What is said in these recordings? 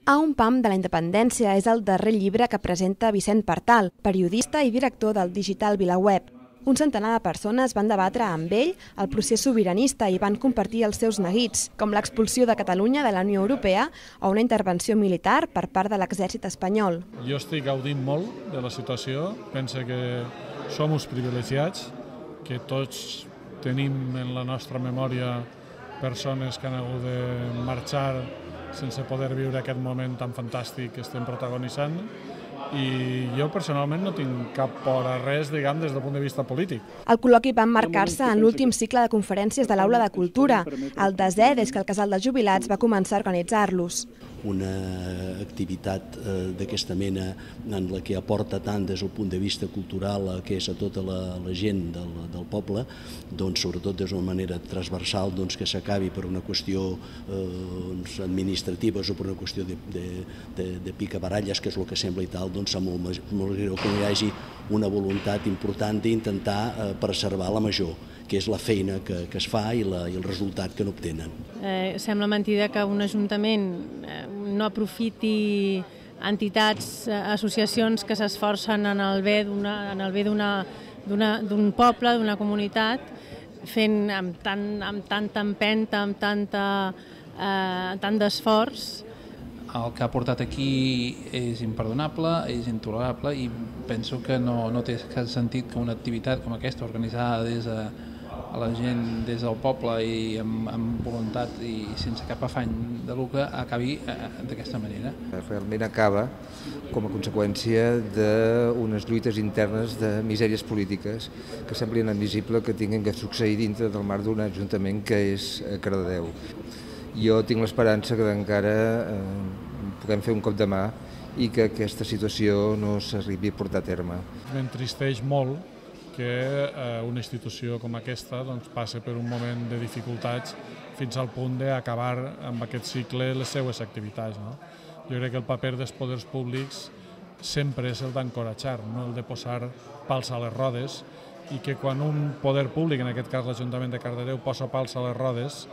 A un pam de la independència és el darrer llibre que presenta Vicent Partal, periodista i director del digital VilaWeb. Un centenar de persones van debatre amb ell el procés sobiranista i van compartir els seus neguits, com l'expulsió de Catalunya de la Unió Europea o una intervenció militar per part de l'exèrcit espanyol. Jo estic gaudint molt de la situació, penso que som uns privilegiats, que tots tenim en la nostra memòria persones que han hagut de marxar sense poder viure aquest moment tan fantàstic que estem protagonitzant, i jo personalment no tinc cap por a res, diguem, des del punt de vista polític. El col·loqui va emmarcar-se en l'últim cicle de conferències de l'Aula de Cultura, el desè des que el Casal de Jubilats va començar a organitzar-los. Una activitat d'aquesta mena en la que aporta tant des del punt de vista cultural que és a tota la gent del poble, doncs, sobretot d'una manera transversal, doncs, que s'acabi per una qüestió administrativa o per una qüestió de picabaralles, que és el que sembla i tal, doncs és molt greu que hi hagi una voluntat important d'intentar preservar la major, que és la feina que es fa i el resultat que n'obtenen. Sembla mentida que un ajuntament no aprofiti entitats, associacions que s'esforcen en el bé d'un poble, d'una comunitat, fent amb tanta empenta, amb tant d'esforç. El que ha portat aquí és imperdonable, és intolerable i penso que no té cap sentit que una activitat com aquesta, organitzada des de la gent, des del poble i amb voluntat i sense cap afany de lucre, acabi d'aquesta manera. Realment acaba com a conseqüència d'unes lluites internes de misèries polítiques que sembla inadmissible que tinguin que succeir dintre del marc d'un ajuntament que és Cardedeu. Jo tinc l'esperança que encara puguem fer un cop de mà i que aquesta situació no s'arribi a portar a terme. M'entristeix molt que una institució com aquesta passi per un moment de dificultats fins al punt d'acabar amb aquest cicle les seues activitats. Jo crec que el paper dels poders públics sempre és el d'encoratjar, no el de posar pals a les rodes, i que quan un poder públic, en aquest cas l'Ajuntament de Cardedeu, posa pals a les rodes,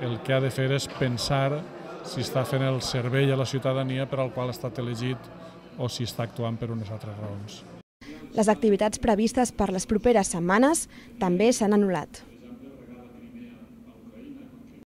el que ha de fer és pensar si està fent el servei a la ciutadania per al qual ha estat elegit o si està actuant per unes altres raons. Les activitats previstes per les properes setmanes també s'han anul·lat.